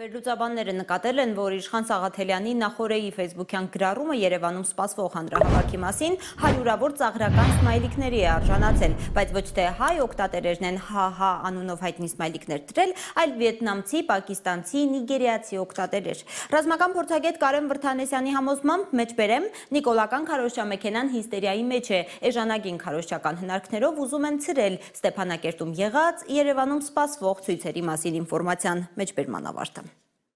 Վերլուծաբանները նկատել են, որ Իշխան Սաղաթելյանի Նախորեի ֆեյսբուքյան գրառումը Երևանում սպասվող հանրահավաքի մասին հարյուրավոր ծաղրական սմայլիկների է արժանացել, բայց ոչ թե հայ օգտատերերն են ՀՀ անունով հայտնի սմայլիկներ դրել, այլ վիետնամցի, պակիստանցի, նիգերիացի օգտատերեր։ Ռազմական փորձագետ Կարեն Վրդանեսյանի համոզմամբ մեջբերեմ նիկոլական քարոզչամեքենան հիստերիայի մեջ է, էժանագին քարոզչական հնարքներով ուզում են ցրել Ստեփանակերտում եղած, Երևանում սպասվող ցույցերի մասին ինֆորմացիան։ Մեջբերման ավարտը։